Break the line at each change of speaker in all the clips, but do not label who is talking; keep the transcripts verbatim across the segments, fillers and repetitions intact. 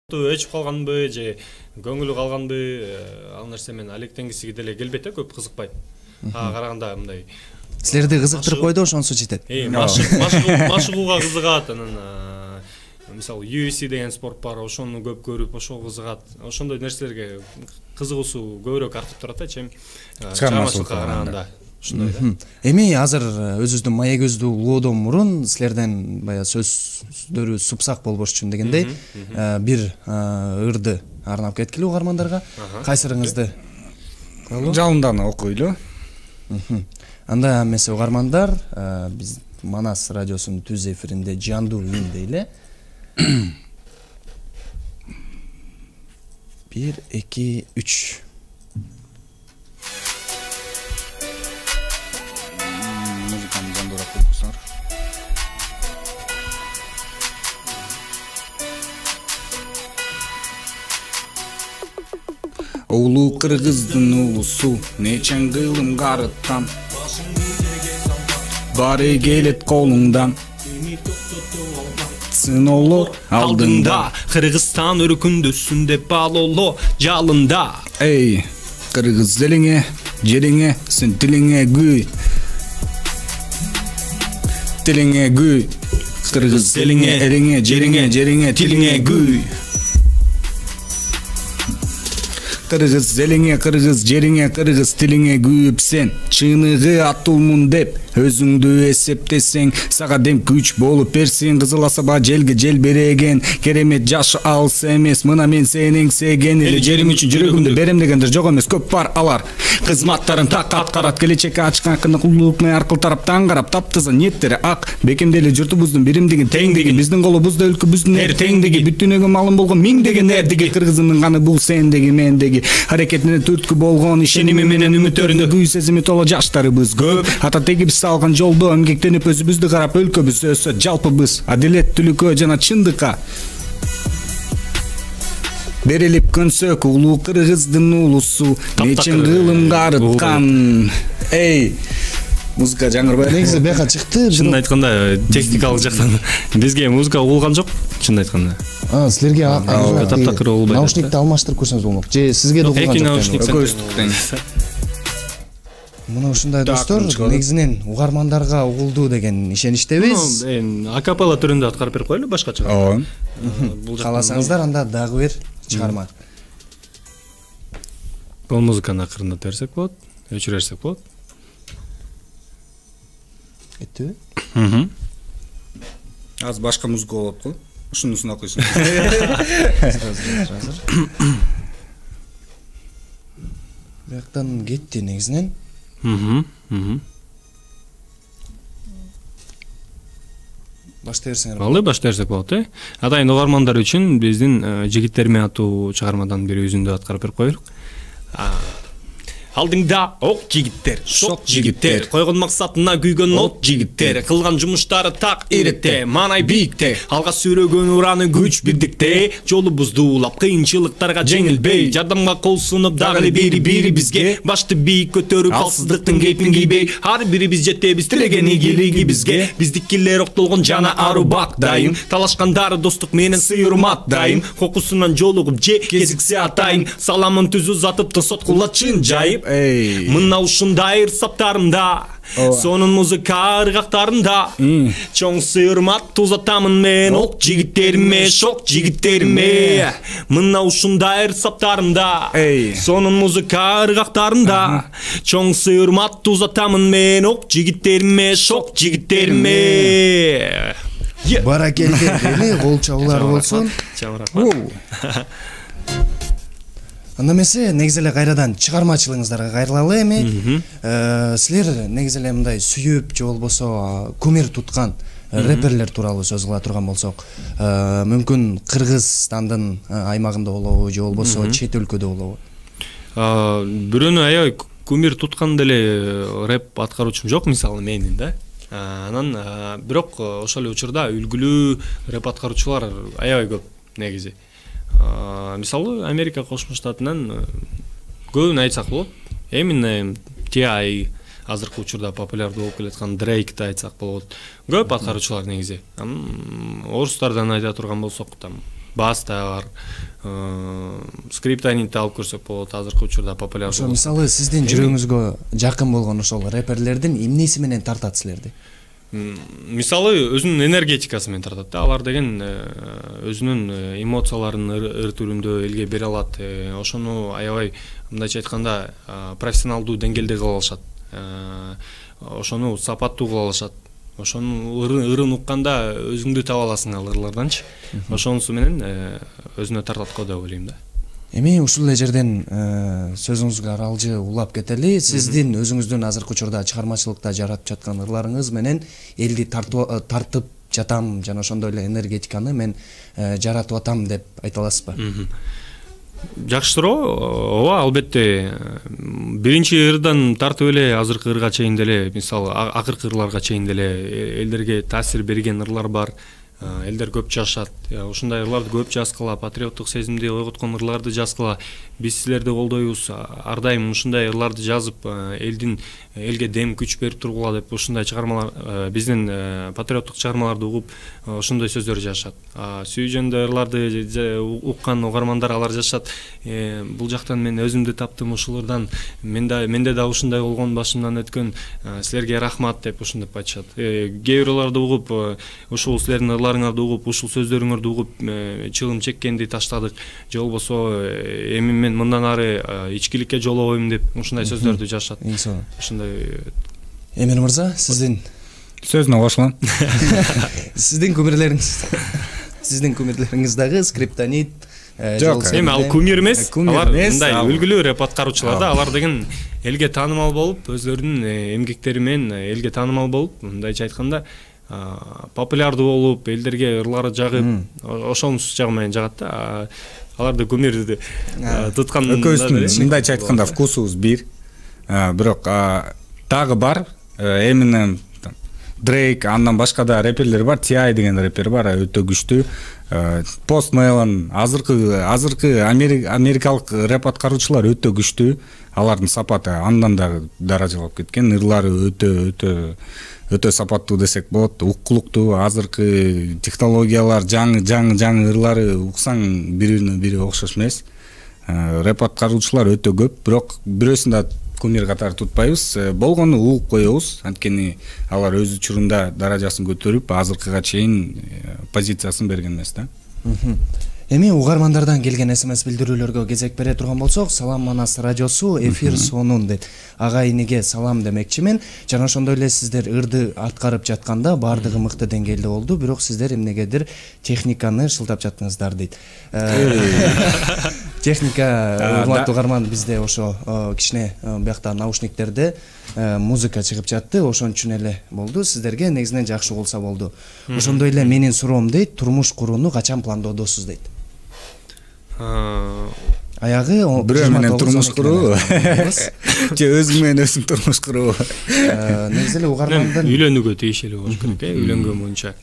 өчүп калганбы же көңүлү калганбы ал нерсе мен алектенгиси деле келбейт да, көп кызыкпайт. Ага караганда мындай
силерди кызыктырып койду, ошонусу жетет.
Машыгууга кызыгат, анан мисалы ю эф си деген спорт бар, ошону көп көрүп, ошого кызыгат. Ошондой нерселерге кызыгуусу көбүрөөк артып турат да, чем чыгармачылыкка караганда.
Эми азыр өзүбүздүн маегибизди улоодон мурун силерден баягы сөздөрү супсак болбош үчүн дегендей бир ырды арнап кеткиле угармандарга. Кайсырыңызды
жалындан окуйлу.
Анда эмесе угармандар, биз Манас радиосунун түз эфиринде жандуу үн дейле. бир, эки, үч.
Улуу кыргыздын улусу нечен кылым карыткан, баары келет колуңдан. Сыноолор алдыңда,
Кыргызстан өркүндөсүндө балоло жалында.
Эй, кыргыз элиңе, жериңе, сен тилиңе күй. Тилиңе күй. Кыргыз элиңе, элиңе, жериңе, жериңе, тилиңе күй. Кыргыз элиңе, кыргыз жериңе, кыргыз тилиңе күйүп сен чыныгы атуулмун деп өзүңдү эсептесең, сага дем күч болуп берсин. Кызыл асаба желге жел береген, керемет жаш алыс эмес, мына мен сенин сеген эле жерим үчүн жүрөгүмдү берем дегендер жок эмес, көп бар алар. Кызматтарын так аткарат, келечекке ачкан кулдук менен аркыл тараптан карап таптаза ниеттери ак, бекемдели журтубуздун биримдиги, теңдиги, биздин колубузда өлкөбүздүн эр теңдиги, бүтүнөгө малым болгон миңдеген эрдиги, кыргызымдын каны бул сендеги, мендеги. Аракетине түрткү болгон ишеними менен үмүттөрүндө күй сезими толо жаштарыбыз көп. Ата тегибиз салган жолдо эмгектенип өзүбүздү карап өлкөбүз өссө жалпыбыз адилеттүүлүккө жана чындыкка берилип көнсөк, улуу кыргыздын улусу нечен кылым карыткан. Эй, музыка жаңырбай
негизи бияка чыкты.
Чынын айтканда техникалык жактан бизге музыка угулган жок, чынын айтканда.
А, силерге
таптакыр болбойт.
Наушникти алмаштырып көрсөңүз болмок. Же сизге да угулган жок?
Экөөбүздүк тең.
Мына ушундай достор, негизинен угармандарга угулду деген ишеничтебиз.
Эми акапелла түрүндө аткарып берип коелу башкача.
Ооба.
Кааласаңыздар анда дагы бир чыгарма.
Бул музыканы акырындап берсек болот, өчүрөрсөк болот.
Эттиби?
Мм.
Аз башка музыка болот го. Ушунусун окуйсуң.
Бияктан кетти негизинен.
Мм. Мм.
Баштай берсеңер.
Алды баштай берсек болот, э? Атайын угармандар үчүн биздин жигиттерме аттуу чыгармадан бир үзүндү аткарып берип коелук. Алдыңда ок жигиттер, шок жигиттер, койгон максатына күйгөн от жигиттер, кылган жумуштары так иретте, маанай бийикте, алга сүрөгөн ураны күч бирдикте, жолубузду улап кыйынчылыктарга жеңилбей, жардамга кол сунуп дагы эле бири бири бизге, башты бийик көтөрүп алсыздыктын кейпин кийбей, ар бирибиз жетебиз тилеген ийгилиги бизге, биздикилер октолгон жана ару бак дайым, талашкандары достук менен сый урмат дайым, кокусунан жолугуп же кезиксе атайын, саламын түз узатып да соткулатчын жайып.
Эй,
мына ушундай ырсаптарымда, сонун музыка ыргактарында, чоң сыйырмат узатамын мен ок жигиттериме, шок жигиттериме. Мына ушундай ырсаптарымда, сонун музыка ыргактарында, чоң сыйырмат узатамын мен ок жигиттериме, шок жигиттериме.
Баракелде дейли, кол чабуулар болсун. Анда эмесе негизи эле кайрадан чыгармачылыгыңыздарга кайрылалы эми. Силер негизи эле мындай сүйүп же болбосо кумир туткан рэперлер тууралуу сөз кыла турган болсок, мүмкүн Кыргызстандын аймагында болобу же болбосо чет өлкөдө болобу?
Бирөөнү аябай кумир туткан деле рэп аткаруучум жок, мисалы менин да. Анан бирок ошол эле учурда үлгүлүү рэп аткаруучулар аябай көп негизи. Мисалы Америка Кошмо Штатынан көбүн айтсак болот. Эминем, Ти Ай, азыркы учурда популярдуу болуп келаткан Дрейкти айтсак болот. Көп аткаруучулар негизи. Орустардан айта турган болсок, там баста бар, скриптонитти алып көрсөк болот, азыркы учурда популярдуу.
Ошо мисалы сиздин жүрөгүңүзгө жакын болгон ошол рэперлердин эмнеси менен тартат силерди?
Мисалы өзүнүн энергетикасы менен тартат да. Алар деген өзүнүн эмоцияларын ыр түрүндө элге бере алат. Ошону аябай мындайча айтканда профессионалдуу деңгээлде кыла алышат. Ошону сапаттуу кыла алышат. Ошону ырын укканда өзүңдү таба аласың ал ырларданчы. Ошонусу менен өзүнө тартат го деп ойлойм да.
Эми ушул эле жерден сөзүңүзгө аралжы улап кетели. Сиздин өзүңүздүн азыркы учурда чыгармачылыкта жаратып жаткан ырларыңыз менен элди тартып жатам жана ошондой эле энергетиканы мен жаратып атам деп айта аласызбы?
Жакшы суроо. Ооба, албетте. Биринчи ырдан тартып эле азыркы ырга чейин деле, мисалы акыркы ырларга чейин деле элдерге таасир берген ырлар бар. Элдер көп жашат. Ушундай ырларды көп жазгыла, патриоттук сезимди ойготкон ырларды жазгыла. Биз силерди колдойбуз. Ар дайым ушундай ырларды жазып, элдин элге дем күч берип тургула деп ушундай чыгармалар, биздин патриоттук чыгармаларды угуп, ошондой сөздөр жазышат. Сүйүү жөнүндө ырларды уккан угармандар алар жазышат. Бул жактан мен өзүмдү таптым ушулардан. Менде менде да ушундай болгон, башымдан өткөн, силерге рахмат деп ушундап айтышат. Кээ бир ырларды угуп, ушул силердин ырларыңарды угуп, ушул сөздөрүңөрдү угуп, чыгым чеккенди таштадык. Же болбосо эми мен мындан ары ичкиликке жолобойм деп ушундай сөздөрдү жазышат. Ушундай.
Эмир мырза, сиздин
сөзүнө кошулам.
Сиздин кумирлериңиз, сиздин кумирлериңиз дагы скриптонит.
Жок,
эми ал кумир эмес. Алар мындай үлгүлүү рэп аткаруучулар да. Алар деген элге таанымал болуп, өзлөрүнүн эмгектери менен элге таанымал болуп, мындайча айтканда популярдуу болуп, элдерге ырлары жагып, ошонусу жагы менен жагат да. Аларды кумирди туткан.
Экөөбүздүн мындайча айтканда вкусубуз бир. Бирок дагы бар, Eminem, Drake, андан башка да рэперлер бар. Ти ай деген рэпер бар, өтө күчтүү. Post Malone, азыркы азыркы америкалык рэп аткаруучулар өтө күчтүү. Алардын сапаты андан да даражалап кеткен. Ырлары өтө өтө өтө сапаттуу десек болот. Уккулуктуу, азыркы технологиялар, жаңы жаңы жаңы ырлары уксаң бирине бири окшош эмес. Рэп аткаруучулар өтө көп, бирок бирөөсүн да кумир катары тутпайбыз. Болгону угуп коебуз. Анткени алар өз учурунда даражасын көтөрүп, азыркыга чейин позициясын берген эмес да.
Эми угармандардан келген смс билдирүүлөргө кезек бере турган болсок, Салам Манас радиосу эфир сонун дейт. Ага иниге салам демекчимен. Жана ошондой эле сиздер ырды аткарып жатканда бардыгы мыкты деңгээлде болду, бирок сиздер эмнегедир техниканы шылтап жаттыңыздар дейт. Техника, урматтуу угарман, бизде ошо кичине биякта наушниктерде музыка чыгып жатты, ошон үчүн эле болду. Сиздерге негизинен жакшы болсо болду. Ошондой эле менин суроом дейт, турмуш курууну качан пландоодосуз дейт. Аягы
бирөө менен турмуш куруу, же өзүң менен өзүң турмуш куруу.
Негизи эле угармандын
үйлөнүүгө тийиштүү болуш керек, э, үйлөнгөн боюнча.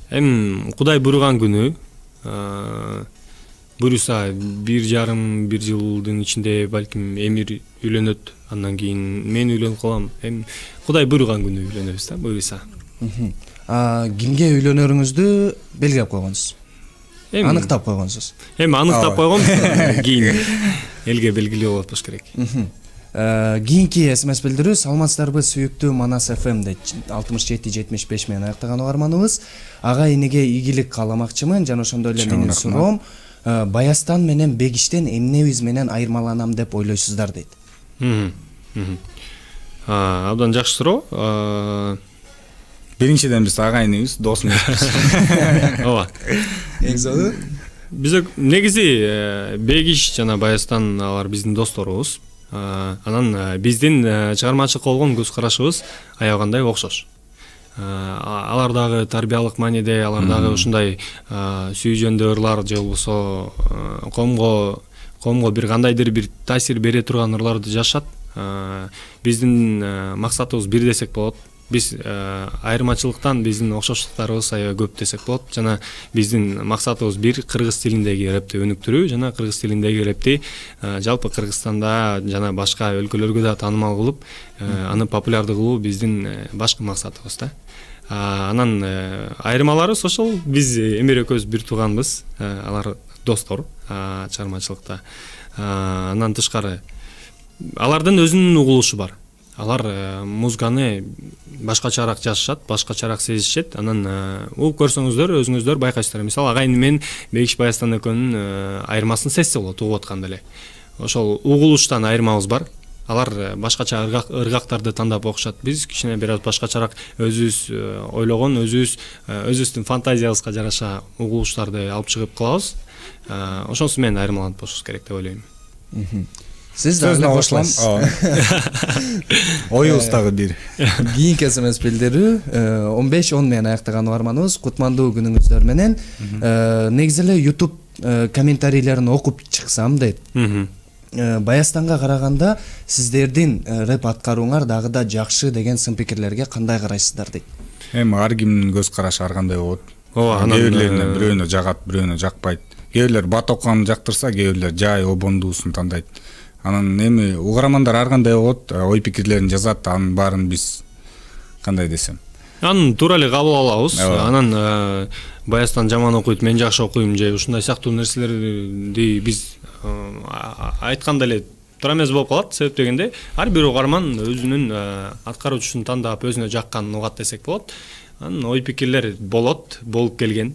Эми Кудай буйруган күнү, буйруса бир жарым бир жылдын ичинде балким Эмир үйлөнөт, андан кийин мен үйлөнүп калам. Эми Кудай буйруган күнү үйлөнөбүз да, буйруса.
Кимге үйлөнөрүңүздү белгилеп койгонсуз? Аныктап койгонсуз.
Эми аныктап койгом, кийин элге белгилүү болот болуш керек.
Кийинки смс билдирүү: саламатсыздарбы сүйүктүү Манас эф эм дейт. алтымыш жети жетимиш беш менен аяктаган угарманыбыз. Ага иниге ийгилик кааламакчымын жана ошондой эле менин суроом, Баястан менен Бегиштен эмнебиз менен айырмаланам деп ойлойсуздар дейт.
Абдан жакшы суроо.
Биринчиден биз агайыныбыз, дос эмеспиз.
Ооба.
Экзоду?
Биз негизи Бегиш жана Баястан алар биздин досторубуз. Анан биздин чыгармачылыкка болгон көз карашыбыз аябагандай окшош. Алар дагы тарбиялык мааниде, алар дагы ушундай сүйүү жөнүндө ырлар же болбосо коомго коомго бир кандайдыр бир таасир бере турган ырларды жашат. Биздин максатыбыз бир десек болот. Биз айырмачылыктан биздин окшоштуктарыбыз аябай көп десек болот. Жана биздин максатыбыз бир, кыргыз тилиндеги рэпти өнүктүрүү жана кыргыз тилиндеги рэпти жалпы Кыргызстанда жана башка өлкөлөргө да таанымал кылып, аны популярдуу кылуу биздин башкы максатыбыз да. Анан айырмаларыбыз ошол, биз эмер экөөбүз бир тууганбыз, алар достор чыгармачылыкта. Андан тышкары алардын өзүнүн угулушу бар. Алар музыканы башкачараак жазышат, башкачараак сезишет. Анан угуп көрсөңүздөр, өзүңүздөр байкайсыздар. Мисалы агайын мен Бекиш Баястан экөөнүн айырмасын сезсе болот угуп атканда эле. Ошол угулуштан айырмабыз бар. Алар башкача ыргактарды тандап окушат. Биз кичине бир аз башкачараак өзүбүз ойлогон, өзүбүз өзүбүздүн фантазиябызга жараша угулуштарды алып чыгып кылабыз. Ошонусу менен айырмаланып болушубуз керек деп ойлойм.
Сиз дагы кошуласыз.
Оюбуз дагы бир.
Кийинки эс эм эс билдирүү он беш он менен аяктаган угарманыбыз. Кутмандуу күнүңүздөр менен. Негизи эле YouTube комментарийлерин окуп чыксам дейт. Баястанга караганда сиздердин рэп аткарууңар дагы да жакшы деген сын пикирлерге кандай карайсыздар дейт.
Эми ар кимдин көз карашы ар кандай болот.
Ооба, анан
кээ бирлерине бирөөнө жагат, бирөөнө жакпайт. Кээ бирлер бат окуганды жактырса, кээ бирлер жай обондуусун тандайт. Анан эми угармандар ар кандай болот, ой пикирлерин жазат, анын баарын биз кандай десем,
анын туура эле кабыл алабыз. Анан Баястан жаман окуйт, мен жакшы окуйм же ушундай сыяктуу нерселерди биз айтканда эле туура эмес болуп калат. Себеп дегенде ар бир угарман өзүнүн аткаруучусун тандап, өзүнө жакканын угат десек болот. Анын ой пикирлер болот, болуп келген.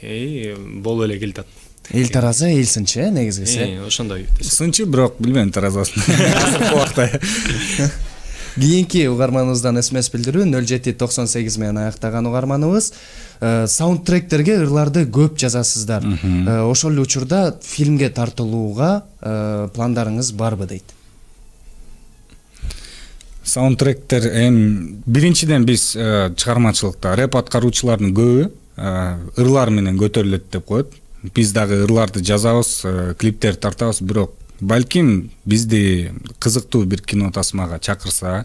Эй, болуп эле келатат.
Эл таразы, эл сынчы, негизгиси.
Ошондой.
Сынчы, бирок билбейм таразасын. Азыркы убакта.
Кийинки угарманыбыздан эс эм эс билдирүү нөл жети токсон сегиз менен аяктаган угарманыбыз. Саундтректерге ырларды көп жазасыздар. Ошол эле учурда фильмге тартылууга пландарыңыз барбы дейт.
Саундтректер эми биринчиден биз чыгармачылыкта рэп аткаруучулардын көбү ырлар менен көтөрүлөт деп коет. Биз дагы ырларды жазабыз, клиптер тартабыз, бирок балким бизди кызыктуу бир кино тасмага чакырса,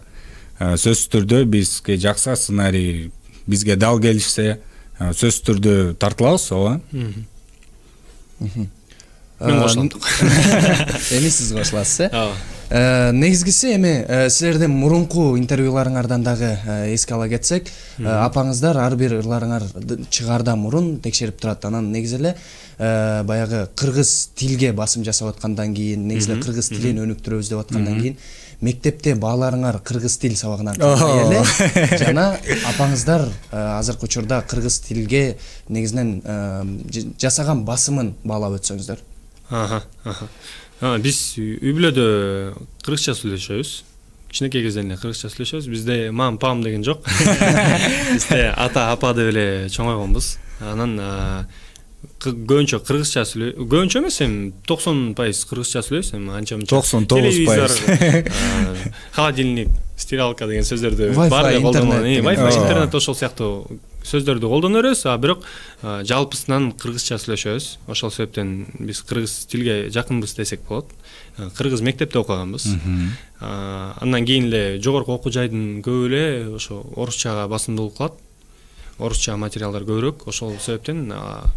сөзсүз түрдө бизге жакса сценарий, бизге дал келишсе, сөзсүз түрдө тартылабыз, ооба.
Мен кошулам.
Эми сиз кошуласыз, э? Негизгиси эми силердин мурунку интервьюларыңардан дагы эске ала кетсек, апаңыздар ар бир ырларыңар чыгаардан мурун текшерип турат. Анан негизи эле баягы кыргыз тилге басым жасап аткандан кийин, негизи эле кыргыз тилин өнүктүрөбүз деп аткандан кийин мектепте бааларыңар кыргыз тил сабагынан калбай эле жана апаңыздар азыркы учурда кыргыз тилге негизинен жасаган басымын баалап өтсөңүздөр.
Аха, аха. Биз үй бүлөдө кыргызча сүйлөшөбүз. Кичинекей кезден эле кыргызча сүйлөшөбүз. Бизде мам, пам деген жок. Бизде ата, апа деп эле чоңойгонбуз. Анан көбүнчө кыргызча сүйлөй, көбүнчө эмес, эми токсон пайыз кыргызча сүйлөйбүз, эми анча-мынча.
токсон тогуз пайыз.
Холодильник, стиралка деген сөздөрдү бар эле колдонот. Wi-Fi, интернет ошол сыяктуу сөздөрдү колдоно беребиз, а бирок жалпысынан кыргызча сүйлөшөбүз. Ошол себептен биз кыргыз тилге жакынбыз десек болот. Кыргыз мектепте окуганбыз. Андан кийин эле жогорку окуу жайдын көбү эле ошо орусчага басымдуулук кылат. Орусча материалдар көбүрөөк. Ошол себептен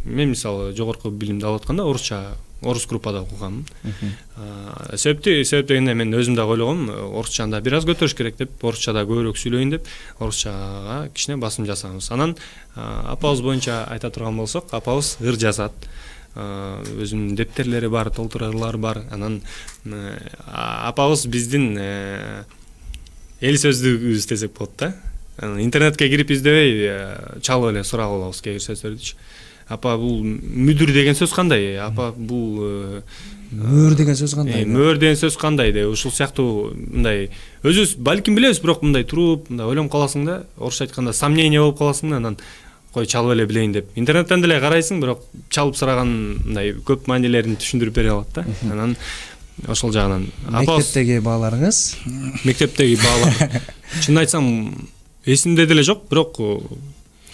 мен мисалы жогорку билимди алып атканда орусча орус группада окуганмын. Себепти себеп дегенде мен өзүм да ойлогом, орусчаны да бир аз көтөрүш керек деп, орусчада көбүрөөк сүйлөйүн деп, орусчага кичине басым жасаганбыз. Анан апабыз боюнча айта турган болсок, апабыз ыр жазат. Өзүнүн дептерлери бар, толтуруулары бар. Анан апабыз биздин эл сөздүгүбүз десек болот да. Интернетке кирип издебей, чалып эле сурап алабыз кээ бир сөздөрдү. Апа, бул мүдүр деген сөз кандай? Апа, бул
мөр деген сөз кандай?
Мөр деген сөз кандай деп, ушул сыяктуу мындай өзүбүз балким билебиз, бирок мындай туруп, мындай ойлонуп каласың да, орусча айтканда сомнение болуп каласың да, анан кой чалып эле билейин деп. Интернеттен деле карайсың, бирок чалып сураган мындай көп маанилерин түшүндүрүп бере алат да. Анан ошол жагынан
мектептеги бааларыңыз?
Мектептеги баалар чын айтсам эсимде деле жок, бирок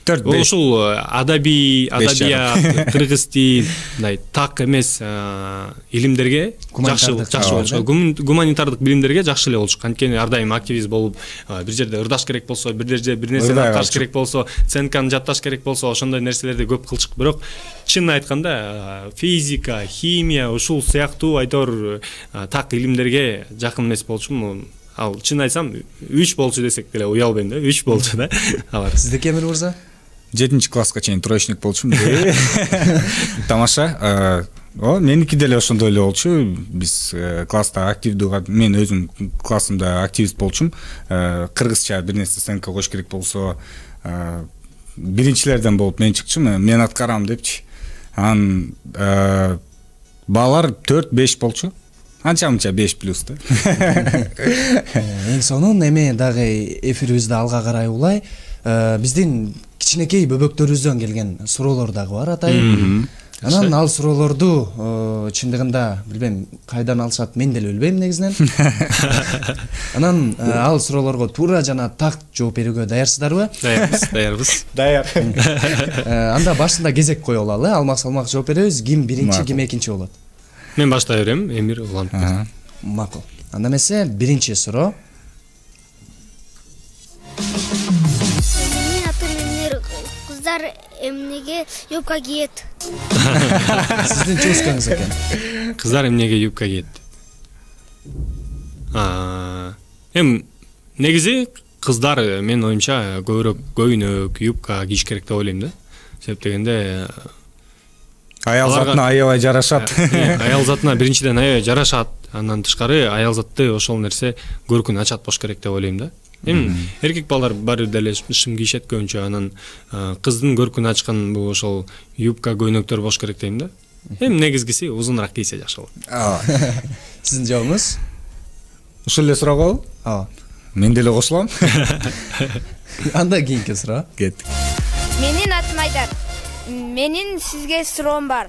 ошол адабий, адабият, кыргыз тил, мындай так эмес илимдерге жакшы жакшы болчу. Гуманитардык билимдерге жакшы эле болчу. Анткени ар дайым активист болуп, бир жерде ырдаш керек болсо, бир жерде бир нерсени аткарыш керек болсо, ценканы жатташ керек болсо, ошондой нерселерди көп кылчык. Бирок чын айтканда физика, химия, ушул сыяктуу айтор так илимдерге жакын эмес болчумун. ал чын айтсам үч болчу десек деле уялбайм да, үч болчу да. Алар.
Сиздики Эмир мырза?
жетинчи класска чейин троечник болчумун. Тамаша. О, меники деле ошондой эле болчу. Биз класста активдүү, мен өзүм классымда активист болчум. Кыргызча бир нерсе сценка коюш керек болсо, биринчилерден болуп мен чыкчумун, мен аткарам депчи. Анан балар төрт беш болчу. Анча-мынча беш плюс да.
Эң сонун эми дагы эфирибизди алга карай улай, биздин кичинекей бөбөктөрүбүздөн келген суроолор дагы бар, атай. Анан ал суроолорду чындыгында билбейм кайдан алышат, мен деле билбейм негизинен. Анан ал суроолорго туура жана так жооп берүүгө даярсыздарбы?
Даярбыз, даярбыз.
Даяр.
Анда башында кезек коюп алалы, алмак-салмак жооп беребиз. Ким биринчи, ким экинчи болот?
Мен баштай берем, Эмир улантып берсин.
Макул. Анда эмесе биринчи суроо.
Менин атым Эмир. Кыздар эмнеге юбка кийет?
Сиздин чоскаңыз экен.
Кыздар эмнеге юбка кийет? А, эм негизи кыздар мен оюмча көбүрөөк көйнөк, юбка кийиш керек деп ойлойм да. Себеп дегенде
Аял затына аябай жарашат.
Аял затына биринчиден аябай жарашат. Андан тышкары аял затты ошол нерсе көркүн ачат болуш керек деп ойлойм да. Эми эркек балдар баары деле шым кийишет көбүнчө, анан кыздын көркүн ачкан бул ошол юбка, көйнөктөр болуш керек дейм да. Эми негизгиси узунураак кийсе жакшы болот.
Сиздин жообуңуз?
Ушул эле суроого?
Ооба.
Мен деле кошулам.
Анда кийинки суроо.
Кеттик.
Менин атым Айдар. Менин сизге суроом бар.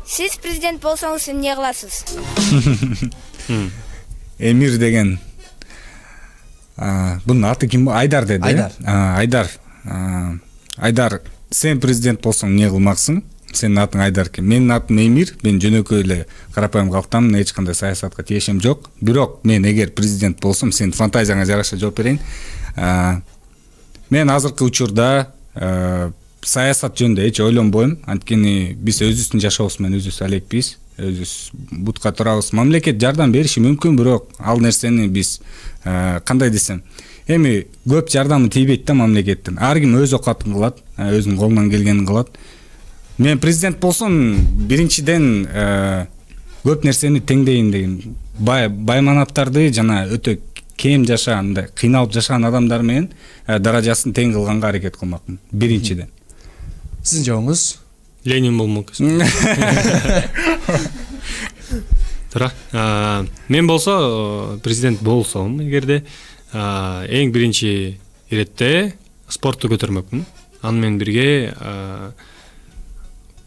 Сиз президент болсоңуз эмне кыласыз?
Эмир деген. Бунун аты ким? Айдар деди.
Айдар.
Айдар. Айдар, сен президент болсоң эмне кылмаксың? Сенин атың Айдар экен. Менин атым Эмир. Мен жөнөкөй эле карапайым калктамын, эч кандай саясатка тиешем жок. Бирок мен эгер президент болсом, сен фантазияңа жараша жооп берейин. Мен азыркы учурда саясат жөнүндө эч ойлонбойм. Анткени биз өзүбүздүн жашообуз менен өзүбүз алекпиз. Өзүбүз бутка турабыз. Мамлекет жардам бериши мүмкүн, бирок ал нерсени биз кандай десем, эми көп жардамы тийбейт да мамлекеттин. Ар ким өз окатын кылат, өзүнүн колунан келгенин кылат. Мен президент болсом, биринчиден көп нерсени теңдейин деген. Байманаттарды жана өтө кем жашаган, кыйналып жашаган адамдар менен даражасын тең кылганга аракет кылмакмын. Биринчиден.
Сиздин жообуңуз?
Ленин болмок. Тура. Мен болсо президент болсом, эгерде эң биринчи иретте спортту көтөрмөкмүн. Аны менен бирге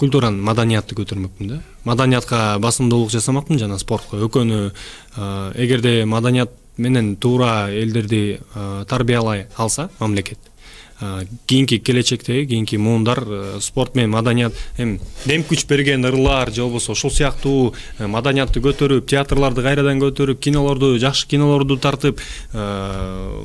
культураны, маданиятты көтөрмөкмүн да. Маданиятка басымдуулук жасамакмын жана спортко. Экөөнү эгерде маданият менен туура элдерди тарбиялай алса мамлекет, кийинки келечекте, кийинки муундар спорт менен маданият эми дем күч берген ырлар же болбосо ошол сыяктуу маданиятты көтөрүп, театрларды кайрадан көтөрүп, кинолорду, жакшы кинолорду тартып,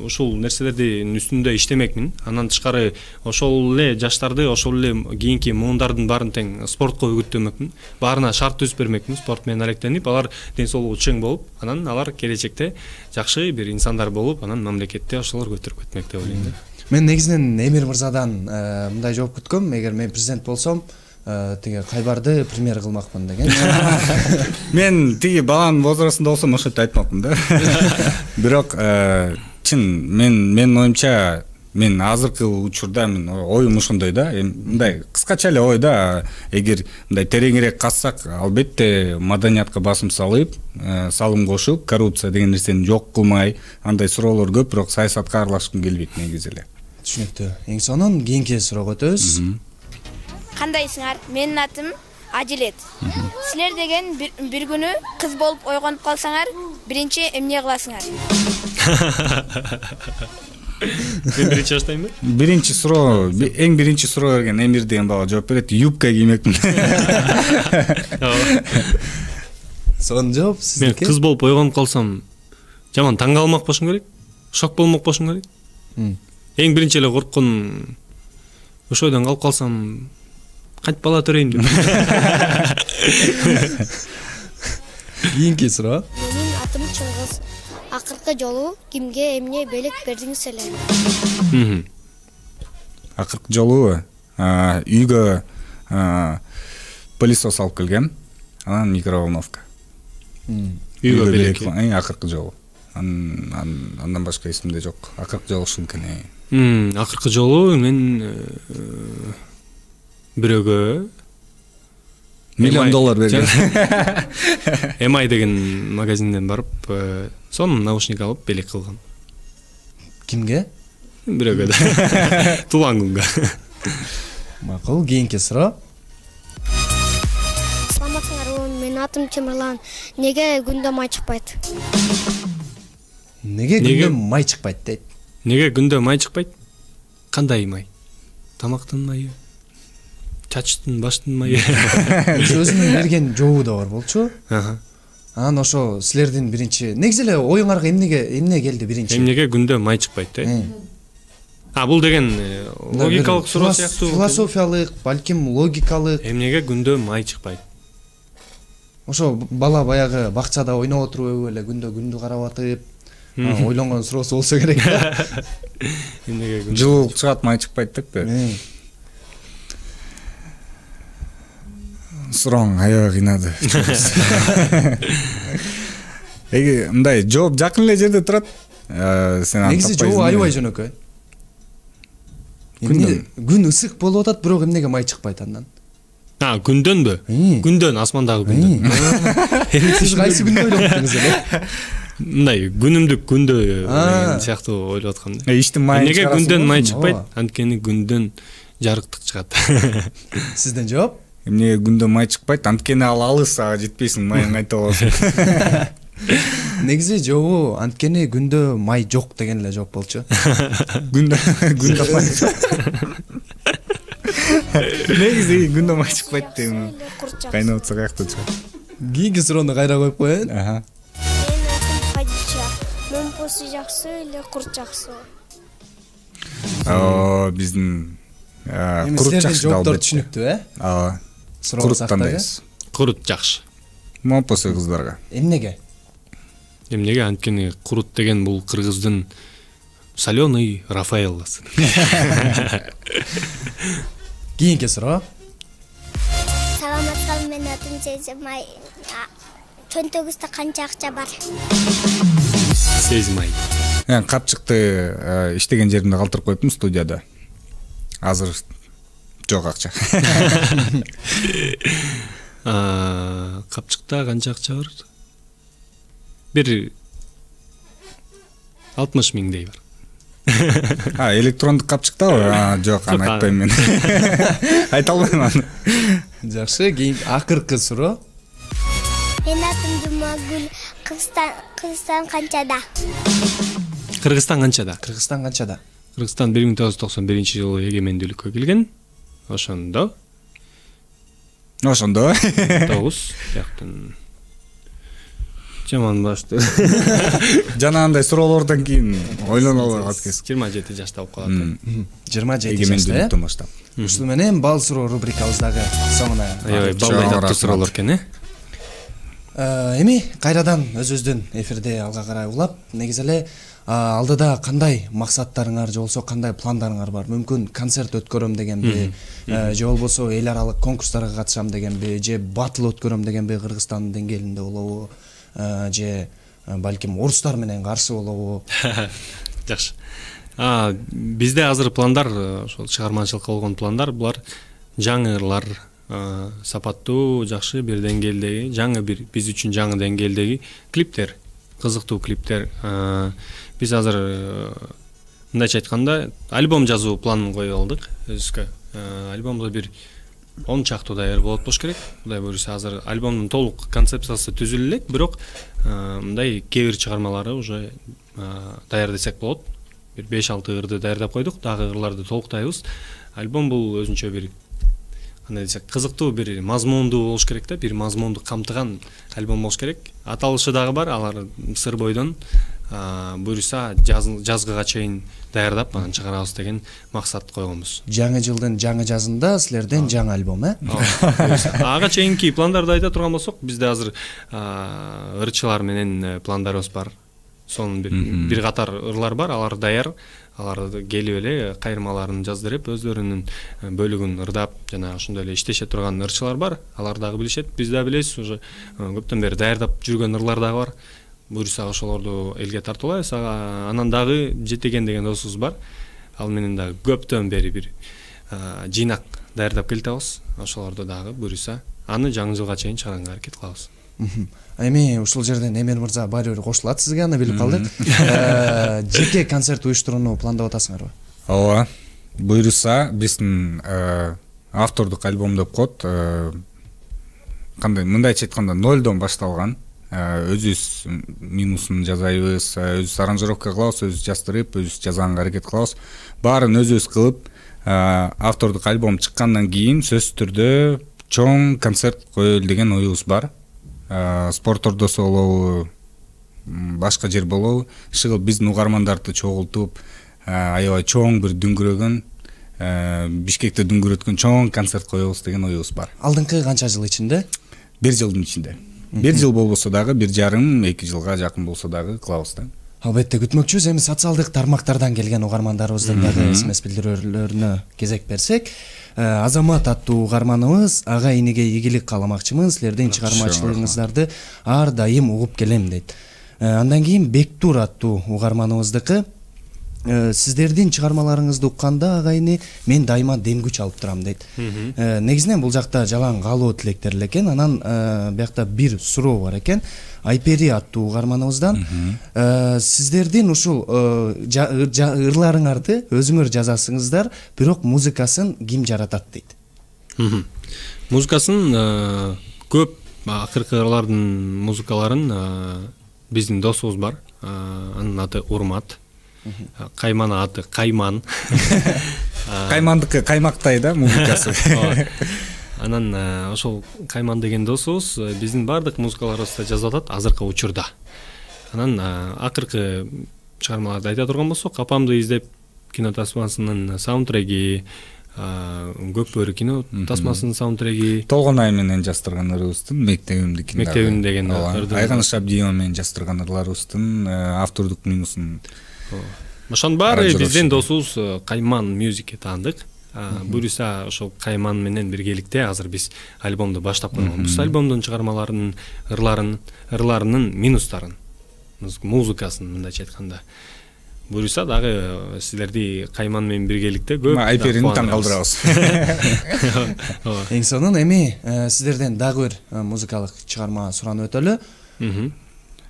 ушул нерселердин үстүндө иштемекмин. Андан тышкары ошол эле жаштарды, ошол эле кийинки муундардын баарын тең спортко үгүттөмөкмүн. Баарына шарт түзүп бермекмин, спорт менен алектенип, алар ден соолугу чың болуп, анан алар келечекте жакшы бир инсандар болуп, анан мамлекетте ошолор көтөрүп кетмек деп ойлойм да.
Мен негизинен Эмир мырзадан мындай жооп күткөм, эгер мен президент болсом, тиги Кайбарды премьер кылмакмын деген.
Мен тиги баланын возрастында болсом ошентип айтмакмын да. Бирок чын мен менин оюмча, мен азыркы учурда мен оюм ошондой да, мындай кыскача эле ой да, эгер мындай тереңирээк казсак, албетте маданиятка басым салып, салым кошуп, коррупция деген нерсени жок кылмай, андай суроолор көп, бирок саясатка аралашкым келбейт негизи эле.
Түшүнүктүү. Эң сонун кийинки суроого өтөбүз.
Кандайсыңар? Менин атым Адилет. Силер деген бир күнү кыз болуп ойгонуп калсаңар, биринчи эмне кыласыңар?
Мен биринчи баштаймбы?
Биринчи суроо, эң биринчи суроо берген Эмир деген бала жооп берет. Юбка киймекмин.
Сонун жооп.
Мен кыз болуп ойгонуп калсам, жаман таң калмак болушум керек. Шок болмок болушум керек. Эң биринчи эле корккон ошойдон калып калсам, кантип бала төрөйм деп.
Кийинки суроо.
Менин атым Чыңгыз. акыркы жолу кимге эмне белек бердиңиз эле?
Акыркы жолу үйгө пылесос алып келгем, анан микроволновка.
Үйгө белек.
Акыркы жолу. Андан башка эсимде жок. Акыркы жолу ушул экен.
Акыркы жолу мен бирөөгө
миллион доллар бергем.
эм ай деген магазинден барып, сонун наушник алып белек кылгам.
Кимге?
Бирөөгө да. Туулган күнгө.
Макул, кийинки суроо.
Саламатсыңарбы, менин атым Темирлан. Неге күндө май чыкпайт?
Неге күндө май чыкпайт дейт?
Неге күндө май чыкпайт? Кандай май? Тамактын майы? Чачтын, баштын майы?
Өзүнүн берген жообу да бар болчу. Анан ошо силердин биринчи, негизи эле оюңарга эмнеге эмне келди биринчи?
Эмнеге күндө май чыкпайт, э? А, бул деген логикалык суроо сыяктуу.
Философиялык, балким логикалык.
Эмнеге күндө май чыкпайт?
Ошо бала баягы бакчада ойноп отуруп эле күндө күндү карап атып, ойлонгон суроосу болсо керек да.
Эмнеге күндө
жылуулук чыгат, май чыкпайт деппи? Сурооң аябай кыйнады. Эги мындай жооп жакын эле жерде турат. Сен аны
негизи жообу аябай жөнөкөй. Күн ысык болуп атат, бирок эмнеге май чыкпайт андан?
А, күндөнбү? Күндөн, асмандагы күндөн.
Сиз кайсы күндө ойлоп аттыңыз эле?
Мындай күнүмдүк күндө деген сыяктуу ойлоп аткам да.
Иштин майын
Эмнеге күндөн май чыкпайт? Анткени күндөн жарыктык чыгат.
Сизден жооп?
Эмнеге күндө май чыкпайт? Анткени ал алыс, ага жетпейсиң, майың кайта болосуң.
Негизи жообу анткени күндө май жок деген эле жооп болчу.
Күндө күндө май. Негизи күндө май чыкпайт дейм. Кайнап атса каякта чыгат.
Кийинки суроону кайра коюп коеюн.
Менин атым Падича. Момпосу жакшы эле курт жакшы?
О, биздин курут жакшы
жооптор түшүнүктүү, э?
Ооба.
Суроо
тандайбыз.
Курут жакшы.
Момпосу кыздарга.
Эмнеге?
Эмнеге? Анткени курут деген бул кыргыздын соленый Рафаэлласы.
Кийинки суроо.
Саламатсызбы, менин атым Сезимай. Чөнтөгүздө канча акча бар?
Сезимай.
Капчыкты иштеген жеримде калтырып коюптум студияда. Азыр жок акча.
Капчыкта канча акча бар? Бир алтымыш миңдей бар.
А, электрондук капчыктабы? Жок, аны айтпайм мен. Айта албайм аны.
Жакшы, кийин акыркы суроо.
Менин атым Жумагүл. Кыргызстан Кыргызстан канчада?
Кыргызстан канчада?
Кыргызстан канчада?
Кыргызстан бир миң тогуз жүз токсон биринчи жылы эгемендүүлүккө келген. Ошондо.
Ошондо.
Тогуз жактан. Жаман башты.
Жана андай суроолордон кийин ойлоно албай калат кез.
жыйырма жети жашта болуп калат.
жыйырма жети жашта.
Эгемендүүлүктөн баштап.
Ушул менен бал суроо рубрикабыздагы соңуна.
Аябай балдай таптуу суроолор экен, э?
Эми кайрадан өзүбүздүн эфирде алга карай улап, негизи эле алдыда кандай максаттарыңар же болбосо кандай пландарыңар бар? Мүмкүн концерт өткөрөм дегенби, же болбосо эл аралык конкурстарга катышам дегенби, же батыл өткөрөм дегенби Кыргызстандын деңгээлинде болобу, же балким орустар менен каршы болобу?
Жакшы. А, бизде азыр пландар, ошол чыгармачылыкка болгон пландар, булар жаңы ырлар, сапаттуу, жакшы бир деңгээлдеги, жаңы бир биз үчүн жаңы деңгээлдеги клиптер, кызыктуу клиптер. Биз азыр мындайча айтканда альбом жазуу планын коюп алдык өзүбүзгө. Альбомдо бир он чактуу даяр болот болуш керек. Кудай буйруса азыр альбомдун толук концепциясы түзүлө элек, бирок мындай кээ бир чыгармалары уже даяр десек болот. Бир беш алты ырды даярдап койдук, дагы ырларды толуктайбыз. Альбом бул өзүнчө бир кандай десек, кызыктуу бир мазмундуу болуш керек да, бир мазмунду камтыган альбом болуш керек. Аталышы дагы бар, алар сыр бойдон буйруса жазгыга чейин даярдап анан чыгарабыз деген максат койгонбуз.
Жаңы жылдын жаңы жазында силерден жаңы альбом, э?
Ага чейинки пландарды айта турган болсок, бизде азыр ырчылар менен пландарыбыз бар. сонун бир бир катар ырлар бар, алар даяр. Алар келип эле кайрмаларын жаздырып, өздөрүнүн бөлүгүн ырдап, жана ошондой эле иштеше турган ырчылар бар. Алар дагы билишет, биз да билебиз, уже көптөн бери даярдап жүргөн ырлар дагы бар. Буюрса ошолорду элге тартуулайбыз. Анан дагы Жетеген деген досубуз бар. Ал менен дагы көптөн бери бир жыйнак даярдап келатабыз. Ошолорду дагы буюрса аны жаңы жылга чейин чыгарганга аракет кылабыз.
Эми ушул жерден Эмир мырза баары бир кошулат сизге, аны билип калдык. Жеке концерт уюштурууну пландап атасыңарбы?
Ооба. Буюрса биздин автордук альбом деп коет. Кандай мындайча айтканда нолдон башталган. Өзүбүз минусун жазайбыз, өзүбүз аранжировка кылабыз, өзүбүз жаздырып, өзүбүз жазганга аракет кылабыз. Баарын өзүбүз кылып, автордук альбом чыккандан кийин сөзсүз түрдө чоң концерт коелу деген оюбуз бар. Спорт ордосу болобу, башка жер болобу, шыгыл биздин угармандарды чогултуп, аябай чоң бир дүңгүрөгөн, Бишкекте дүңгүрөткөн чоң концерт коебуз деген оюбуз бар.
Алдыңкы канча жыл ичинде?
Бир жылдын ичинде. Бир жыл болбосо дагы, бир жарым, эки жылга жакын болсо дагы кылабыз да.
Албетте күтмөкчүбүз. Эми социалдык тармактардан келген угармандарыбыздын дагы смс билдирүүлөрүнө кезек берсек, Азамат аттуу угарманыбыз ага иниге ийгилик кааламакчымын, силердин чыгармачылыгыңыздарды ар дайым угуп келем дейт. Андан кийин Бектур аттуу угарманыбыздыкы сиздердин чыгармаларыңызды укканда агайны мен дайыма дем күч алып турам дейт. Негизинен бул жакта жалаң каалоо тилектер эле экен. Анан биякта бир суроо бар экен. Айпери аттуу угарманыбыздан сиздердин ушул ырларыңарды өзүңөр жазасыңыздар, бирок музыкасын ким жаратат дейт.
Музыкасын көп акыркы ырлардын музыкаларын биздин досубуз бар. Анын аты Урмат. Кайман аты Кайман.
Каймандыкы каймактай да музыкасы.
Анан ошол Кайман деген досубуз биздин бардык музыкаларыбызды жазып атат азыркы учурда. Анан акыркы чыгармаларды айта турган болсок, Капамды издеп кино тасмасынын саундтреги, Көк бөрү кино тасмасынын саундтреги,
Толгон ай менен жаздырган ырыбыздын Мектебимдики.
Мектебим деген
ырды. Айганыш Абдиева менен жаздырган ырларыбыздын автордук минусун.
Ошонун баары биздин досубуз Кайман Music таандык. Буюрса ошол Кайман менен биргеликте азыр биз альбомду баштап койгонбуз. Альбомдун чыгармаларынын ырларын, ырларынын минустарын, музыкасын мындайча айтканда. Буюрса дагы силерди Кайман менен биргеликте көп
Айперини таң калтырабыз.
Эң сонун эми сиздерден дагы бир музыкалык чыгарма суранып өтөлү.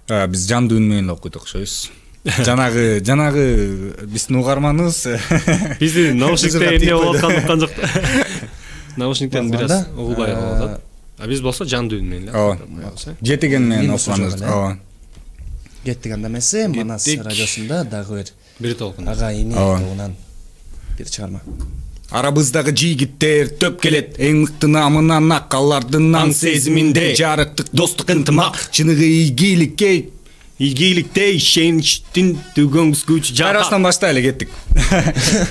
Биз жандуу үн менен окуйт окшойбуз. Жанагы, жанагы биздин угарманыбыз
бизди наушниктен эмне болуп атканын уккан жок. Наушниктен бир аз угулбай калып атат. А биз болсо жандуу үн менен.
Ооба. Жетеген менен окуганбыз. Ооба.
Кеттик анда эмесе, Манас радиосунда дагы бир
бир толкун.
Ага ини тобунан бир чыгарма.
Арабыздагы жигиттер төп келет, эң мыкты намынан акаллардын аң сезиминде, жарыктык достук ынтымак, чыныгы ийгиликке
ийгиликте ишеничтин түгөнгүс күч жата.
Арасынан баштайлы кеттик.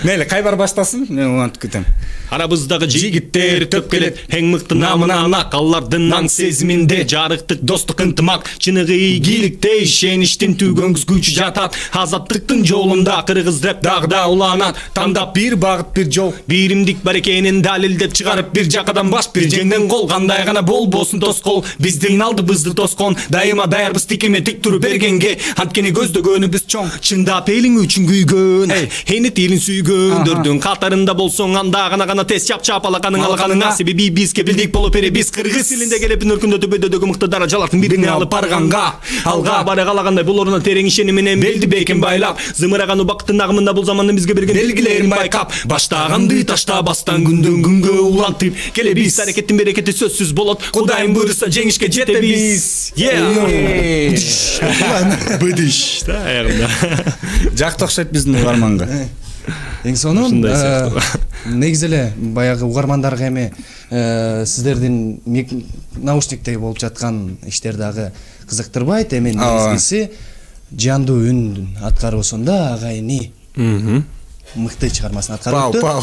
Мейли, кай бар баштасын? Мен улантып кетем.
Арабыздагы жигиттер төп келет, эң мыкты намынан акаллардын аң сезиминде, жарыктык достук ынтымак, чыныгы ийгиликте ишеничтин түгөнгүс күч жатат. Азаттыктын жолунда кыргыз рэп дагы да уланат. Тандап бир багыт бир жол, биримдик бар экенин далилдеп чыгарып бир жакадан баш бир жеңден кол, кандай гана болбосун тоскоол. Биздин алдыбызды тоскон, дайыма даярбыз тикеме тик туруп бергенге, анткени көздөгөнүбүз чоң. Чындап элиң үчүн күйгөн, эни тилин сүйгөндөрдүн катарында болсоң, анда гана гана тез чап чапалаканың алганыңа, себеби биз кепилдик болуп бере, биз кыргыз тилинде келип өркүндө төбөдөгү мыкты даражалардын бирине алып барганга, алга бара калагандай булоруна терең ишени менен белди бекин байлап, зымыраган убакыттын агымында бул замандын бизге берген белгилерин байкап, баштаганды таштабастан күндөн күнгө улантып келебиз. Аракеттин берекети сөзсүз болот, Кудайым буйруса жеңишке жетебиз. Быдыш да аягында.
Жакты окшойт биздин угарманга.
Эң сонун негизи эле баягы угармандарга эми сиздердин наушниктеги болуп жаткан иштер дагы кызыктырбайт. Эми негизгиси жандуу үн аткаруусунда агайыны мыкты чыгармасын аткарып
Пау, пау.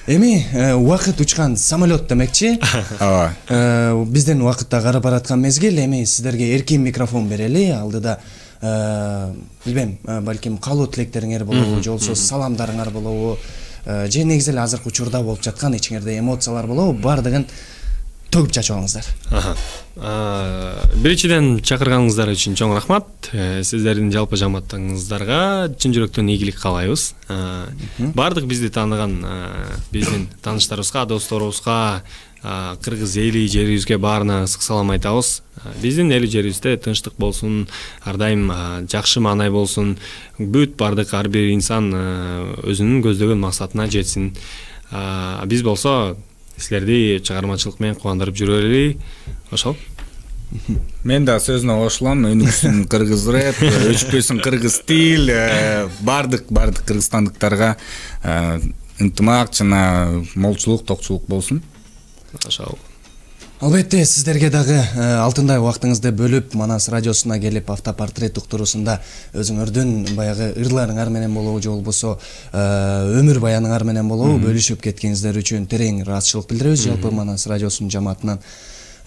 Эми убакыт учкан самолет демекчи.
Ооба.
Биздин убакытта карап бараткан мезгил, эми сиздерге эркин микрофон берели. Алдыда билбейм, балким каалоо тилектериңер болобу, же болбосо саламдарыңар болобу, же негизи эле азыркы учурда болуп жаткан ичиңерде эмоциялар болобу, баардыгын төгүп чачып алыңыздар.
Биринчиден чакырганыңыздар үчүн чоң рахмат. Сиздердин жалпы жамааттарыңыздарга чын жүрөктөн ийгилик каалайбыз. Баардык бизди тааныган биздин тааныштарыбызга, досторубузга, кыргыз эли жерибизге баарына ысык салам айтабыз. Биздин эл жерибизде тынчтык болсун, ар дайым жакшы маанай болсун, бүт баардык ар бир инсан өзүнүн көздөгөн максатына жетсин. Биз болсо силерди чыгармачылык менен кубандырып жүрөлү. Ошол.
Мен да сөзүнө кошулам. Өнүксүн кыргыз рэп, өчпөсүн кыргыз тил, баардык баардык кыргызстандыктарга ынтымак жана молчулук, токчулук болсун.
Ошол.
Албетте, сиздерге дагы алтындай убактыңызды бөлүп Манас радиосуна келип автопортрет уктуруусунда өзүңөрдүн баягы ырларыңар менен болобу, же болбосо өмүр баяныңар менен болобу бөлүшүп кеткениңиздер үчүн терең ыраазычылык билдиребиз жалпы Манас радиосунун жамаатынан.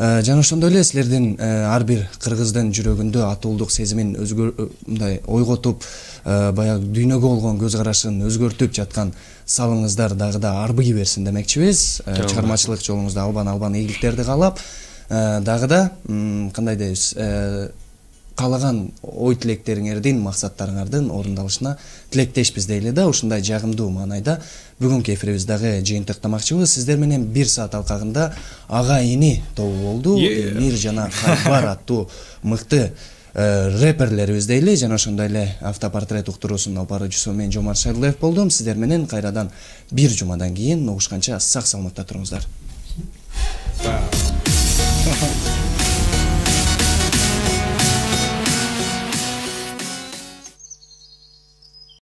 Жана ошондой эле силердин ар бир кыргыздын жүрөгүндө атуулдук сезимин мындай ойготуп, баягы дүйнөгө болгон көз карашын өзгөртүп жаткан салыңыздар дагы да арбый берсин демекчибиз. Чыгармачылык жолуңузда албан-албан ийгиликтерди каалап, дагы да кандай дейбиз, каалаган ой тилектериңердин, максаттарыңардын орундалышына тилектешпиз дейли да. Ушундай жагымдуу маанайда бүгүнкү эфирибизди дагы жыйынтыктамакчыбыз. Сиздер менен бир саат алкагында ага ини тобу болду. Эмир жана Кайбар аттуу мыкты рэперлерибиз дейли. Жана ошондой эле автопортрет уктуруусунун алып баруучусу мен Жомарт Шайлоев болдум. Сиздер менен кайрадан бир жумадан кийин угушканча сак саламатта туруңуздар.